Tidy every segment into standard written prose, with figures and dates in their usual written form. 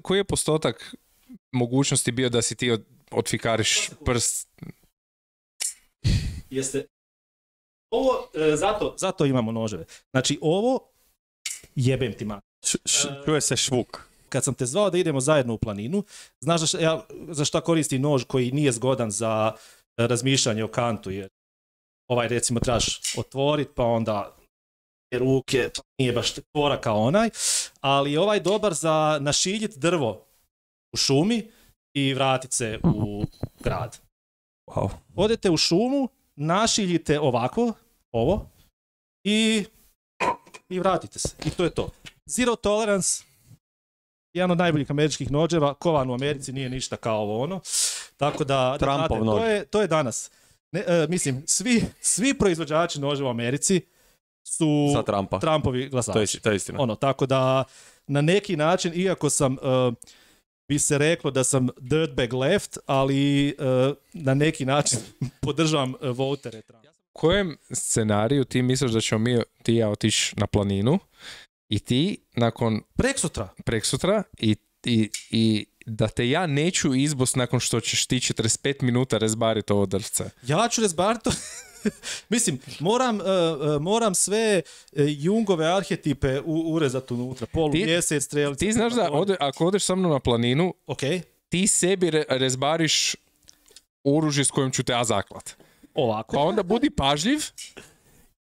Koji je postotak mogućnosti bio da si ti otfikariš prst? Jeste... Ovo, zato imamo noževe. Znači, ovo jebem ti mat. Čuje se švuk. Kad sam te zvao da idemo zajedno u planinu, znaš za šta koristim nož koji nije zgodan za razmišljanje o kantu, jer ovaj recimo trebaš otvoriti, pa onda ruke, pa nije baš tvora kao onaj, ali ovaj dobar za našiljiti drvo u šumi i vratiti se u grad. Wow. Odete u šumu, našiljite ovako, ovo, i vratite se. I to je to. Zero tolerance, jedan od najboljih američkih noževa, kovan u Americi, nije ništa kao ovo ono. Tako da, Trumpov nož. To je danas. Mislim, svi proizvođači noževa u Americi su za Trumpa. Trumpovi glasači. To je istina. Tako da, na neki način, iako sam, bi se reklo da sam dirtbag left, ali na neki način podržavam votere Trumpa. U kojem scenariju ti misliš da ćemo ti i ja otići na planinu i ti nakon... Preksutra i da te ja neću izbost nakon što ćeš ti 45 minuta rezbariti ovo drvce. Ja ću rezbariti to... Mislim, moram sve Jungove arhetipe urezati unutra. Polumjesec, strelice... Ti znaš da ako odeš sa mnom na planinu, ti sebi rezbariš oružje s kojim ću te ja zaklat. Ovako. Pa onda budi pažljiv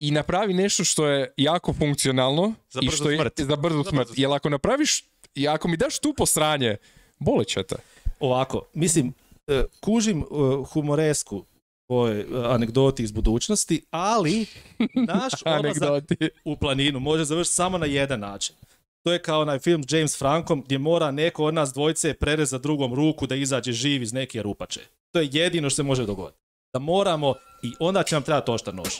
i napravi nešto što je jako funkcionalno za brzu smrt. Jer ako napraviš, i ako mi daš tu posranje, bolit će te. Ovako, mislim, kužim humoresku ovoj anegdoti iz budućnosti, ali naš odlazak u planinu može završiti samo na jedan način. To je kao onaj film s James Frankom gdje mora neko od nas dvojce prerezati drugom ruku da izađe živ iz neke rupače. To je jedino što se može dogoditi. Da moramo i onda će nam trebati oštar nož.